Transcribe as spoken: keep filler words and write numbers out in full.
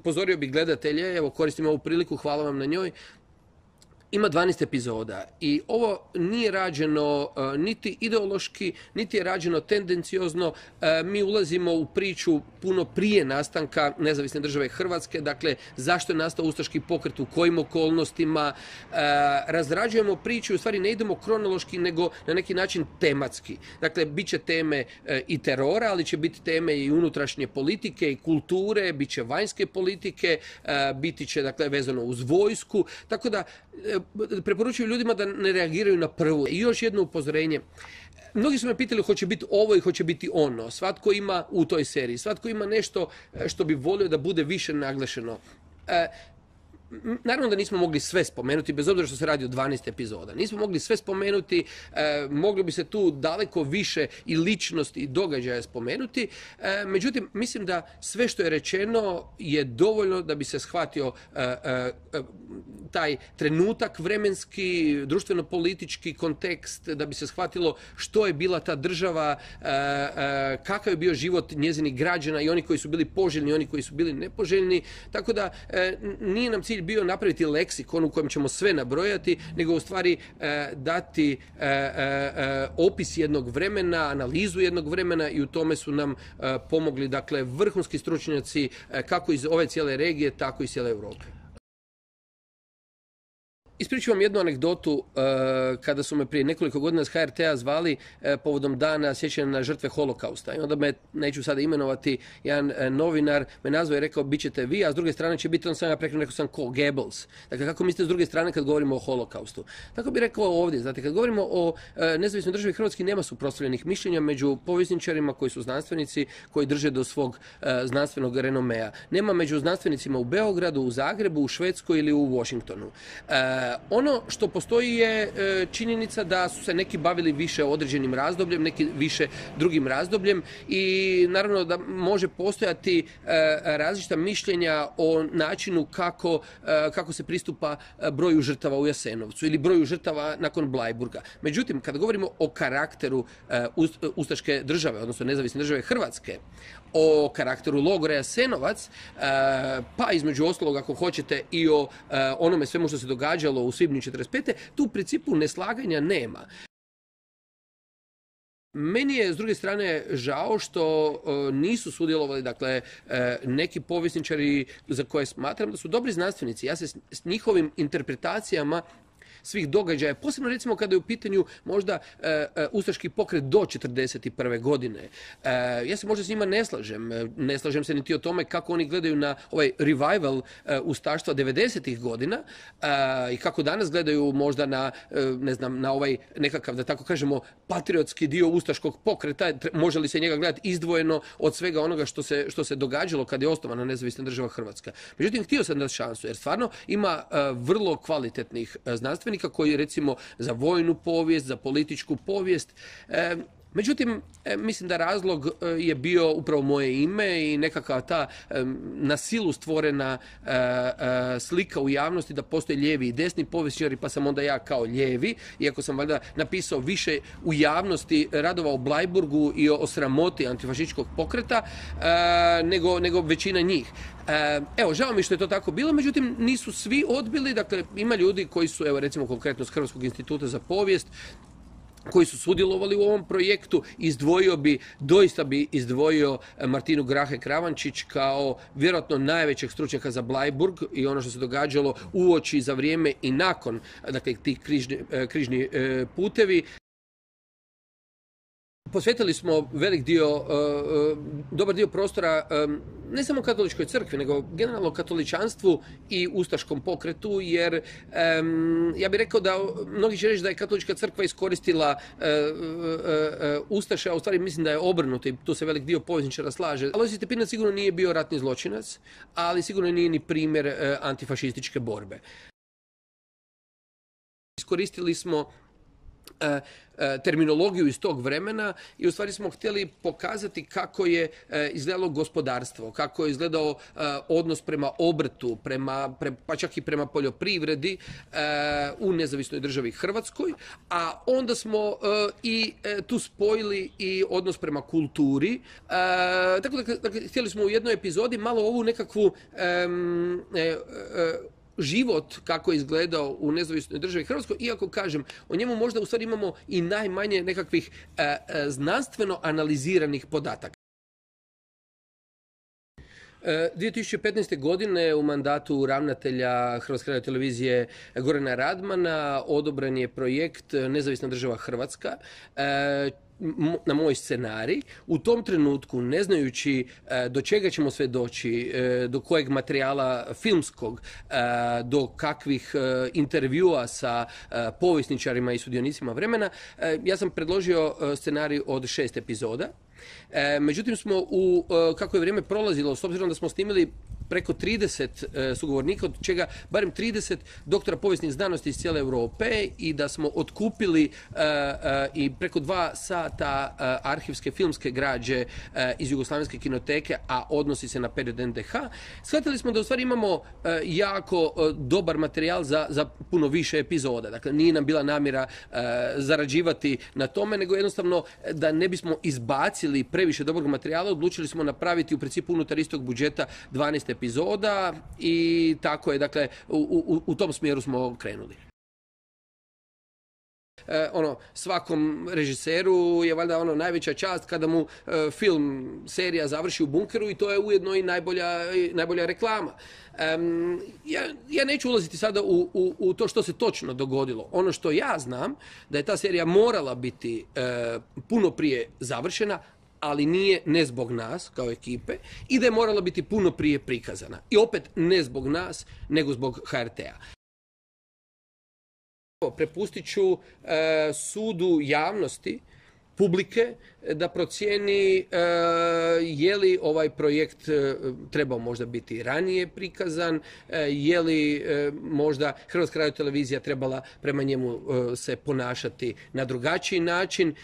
upozorio bih gledatelje, evo koristim ovu priliku, hvala vam na njoj, ima dvanaest epizoda i ovo nije rađeno uh, niti ideološki, niti je rađeno tendenciozno. Uh, mi ulazimo u priču puno prije nastanka Nezavisne države Hrvatske, dakle zašto je nastao ustaški pokret, u kojim okolnostima. Uh, razrađujemo priču i u stvari ne idemo kronološki nego na neki način tematski. Dakle, bit će teme uh, i terora, ali će biti teme i unutrašnje politike i kulture, bit će vanjske politike, uh, biti će dakle vezano uz vojsku, tako da preporučuju ljudima da ne reagiraju na prvu. I još jedno upozorenje. Mnogi su me pitali hoće biti ovo i hoće biti ono. Svatko ima u toj seriji, svatko ima nešto što bi volio da bude više naglašeno. Naravno da nismo mogli sve spomenuti, bez obzira što se radi o dvanaest epizoda. Nismo mogli sve spomenuti, e, moglo bi se tu daleko više i ličnosti i događaja spomenuti. E, međutim, mislim da sve što je rečeno je dovoljno da bi se shvatio e, e, taj trenutak vremenski, društveno-politički kontekst, da bi se shvatilo što je bila ta država, e, e, kakav je bio život njezinih građana i oni koji su bili poželjni i oni koji su bili nepoželjni. Tako da e, nije nam cilj bio napraviti leksikon u kojem ćemo sve nabrojati, nego u stvari e, dati e, e, opis jednog vremena, analizu jednog vremena i u tome su nam e, pomogli dakle vrhunski stručnjaci e, kako iz ove cijele regije, tako i iz cijele Europe. Ispričam vam jednu anegdotu uh, kada su me prije nekoliko godina s H R T-a zvali uh, povodom dana sjećanja na žrtve holokausta. I onda me, neću sada imenovati, jedan uh, novinar me nazvao i rekao bit ćete vi, a s druge strane će biti, on sam ja prekrenuo, rekao sam ko, Goebbels. Dakle, kako mislite s druge strane kad govorimo o holokaustu? Tako bih rekao ovdje, znate, kad govorimo o uh, nezavisnoj državi Hrvatski nema suprotstavljenih mišljenja među povjesničarima koji su znanstvenici, koji drže do svog uh, znanstvenog renomea. Nema među znanstvenicima u Beogradu, u Zagrebu, u Švedskoj ili u Washingtonu. Uh, Ono što postoji je činjenica da su se neki bavili više određenim razdobljem, neki više drugim razdobljem i naravno da može postojati različita mišljenja o načinu kako, kako se pristupa broju žrtava u Jasenovcu ili broju žrtava nakon Bleiburga. Međutim, kada govorimo o karakteru ustaške države, odnosno Nezavisne države Hrvatske, o karakteru logora Jasenovac, pa između ostalog ako hoćete i o onome svemu što se događalo u svibnju četrdeset pete. tu u principu neslaganja nema. Meni je s druge strane žao što nisu sudjelovali dakle neki povjesničari za koje smatram da su dobri znanstvenici. Ja se s njihovim interpretacijama svih događaja, posebno recimo kada je u pitanju možda e, ustaški pokret do četrdeset prve godine. E, ja se možda s njima ne slažem. Ne slažem se niti o tome kako oni gledaju na ovaj revival e, ustaštva devedesetih godina e, i kako danas gledaju možda na, e, ne znam, na ovaj nekakav, da tako kažemo, patriotski dio ustaškog pokreta. Može li se njega gledati izdvojeno od svega onoga što se, što se događalo kada je osnovana Nezavisna država Hrvatska. Međutim, htio sam dati šansu, jer stvarno ima e, vrlo kvalitetnih znanstvenika koji recimo za vojnu povijest, za političku povijest. E, međutim, e, mislim da razlog e, je bio upravo moje ime i nekakva ta e, na silu stvorena e, e, slika u javnosti da postoje lijevi i desni povjesničari, pa sam onda ja kao lijevi, iako sam valjda napisao više u javnosti radova o Bleiburgu i o, o sramoti antifašističkog pokreta, e, nego, nego većina njih. Evo, žao mi što je to tako bilo, međutim nisu svi odbili, dakle ima ljudi koji su, evo recimo konkretno s Hrvatskog instituta za povijest, koji su sudjelovali u ovom projektu. Izdvojio bi, doista bi izdvojio Martinu Grahe Kravančić kao vjerojatno najvećeg stručnjaka za Bleiburg i ono što se događalo uoči, za vrijeme i nakon, dakle tih križni, križni putevi. Posvetili smo velik dio, dobar dio prostora ne samo katoličkoj crkvi, nego generalno katoličanstvu i ustaškom pokretu, jer ja bih rekao da mnogi će reći da je katolička crkva iskoristila ustaše, a u stvari mislim da je obrnuto i tu se velik dio povjesničara slaže. Alojzije Stepinac sigurno nije bio ratni zločinac, ali sigurno nije ni primjer antifašističke borbe. Iskoristili smo terminologiju iz tog vremena i u stvari smo htjeli pokazati kako je izgledalo gospodarstvo, kako je izgledao odnos prema obrtu, prema, pa čak i prema poljoprivredi u nezavisnoj državi Hrvatskoj, a onda smo i tu spojili i odnos prema kulturi. Tako da, dakle, htjeli smo u jednoj epizodi malo ovu nekakvu um, uh, život kako je izgledao u nezavisnoj državi Hrvatskoj, iako kažem, o njemu možda u stvari imamo i najmanje nekakvih e, e, znanstveno analiziranih podataka. dvije tisuće petnaeste. godine u mandatu ravnatelja Hrvatske radiotelevizije Gorana Radmana odobren je projekt Nezavisna država Hrvatska, e, na moj scenarij. U tom trenutku, ne znajući do čega ćemo sve doći, do kojeg materijala filmskog, do kakvih intervjua sa povjesničarima i sudionicima vremena, ja sam predložio scenarij od šest epizoda. Međutim smo, u, kako je vrijeme prolazilo, s obzirom da smo snimili preko trideset sugovornika, od čega barem trideset doktora povijesnih znanosti iz cijele Europe, i da smo otkupili i preko dva sata arhivske filmske građe iz Jugoslavenske kinoteke, a odnosi se na period en de ha, shvatili smo da u stvari imamo jako dobar materijal za, za puno više epizoda. Dakle, nije nam bila namjera zarađivati na tome, nego jednostavno da ne bismo izbacili previše dobrog materijala, odlučili smo napraviti u principu unutar istog budžeta dvanaest epizoda i tako je, dakle, u, u, u tom smjeru smo krenuli. E, ono, svakom režiseru je valjda ono najveća čast kada mu e, film, serija završi u bunkeru, i to je ujedno i najbolja, i najbolja reklama. E, ja, ja neću ulaziti sada u, u, u to što se točno dogodilo. Ono što ja znam, da je ta serija morala biti e, puno prije završena, ali nije ne zbog nas kao ekipe, i da je morala biti puno prije prikazana. I opet ne zbog nas, nego zbog ha er te a. Prepustit ću e, sudu javnosti, publike, da procijeni e, je li ovaj projekt e, trebao možda biti ranije prikazan, e, je li e, možda Hrvatska radiotelevizija trebala prema njemu e, se ponašati na drugačiji način.